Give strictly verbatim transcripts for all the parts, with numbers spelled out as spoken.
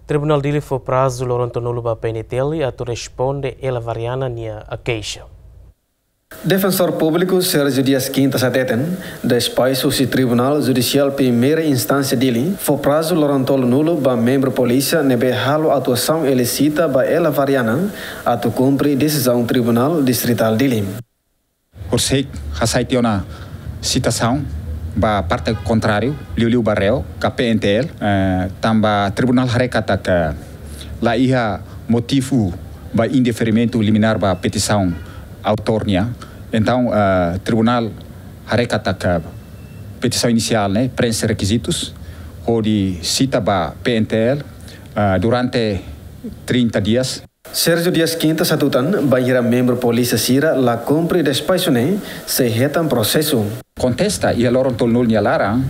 Tribunál Dili fó prazu loron tolunulu ba P N T L atu responde Ela Variana nia keixa. Defensór Públiku Sérgio Dias Quintas hateten, despaxu husi Tribunál Judisiál Primeira Instánsia Dili fó prazu loron tolunulu ba membru polísia ne'ebé halo atuasaun ilísita ba Ela Variana atu kumpre desizaun Tribunál Distritál Dili. Horiseik hasai tiha ona sitasaun ba parte kontráriu, liuliu ba réu, ka P N T L, eh, tanba tribunál haree katak la iha motivu ba indeferimentu liminár ba petisaun autór nian. Entaun, eh, tribunál haree katak petisaun inisiál ne'e preenxe rekizitus hodi sita ba P N T L, eh, durante trinta dias. Sérgio Dias Quintas hatutan, bainhira membru polísia sira la kumpre despaxu ne'e, sei hetan prosesu. Kontesta iha loron tolunulu nia laran,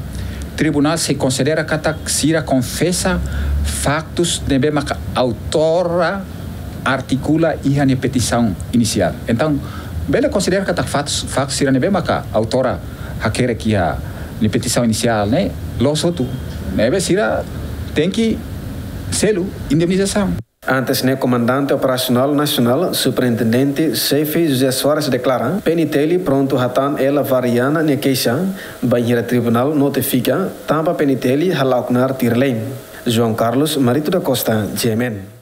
tribunál sei konsidera katak sira konfesa faktus ne'ebé maka autora artikula iha nia petisaun inisiál. Entaun, bele konsidera katak faktus, faktus sira ne'ebé maka autora hakerek iha nia petisaun inisiál ne'e loos hotu. Ne'ebé sira tenke selu indemnizasaun. Antes ne'e, Komandante Operasionál Nasionál, Superintendente Xefe José Soares deklara, P N T L prontu hatan Ela Variana nia keixa, bainhira tribunál notifika, tanba P N T L hala'o knaar tuir lei. João Carlos Marito da Costa, G M N.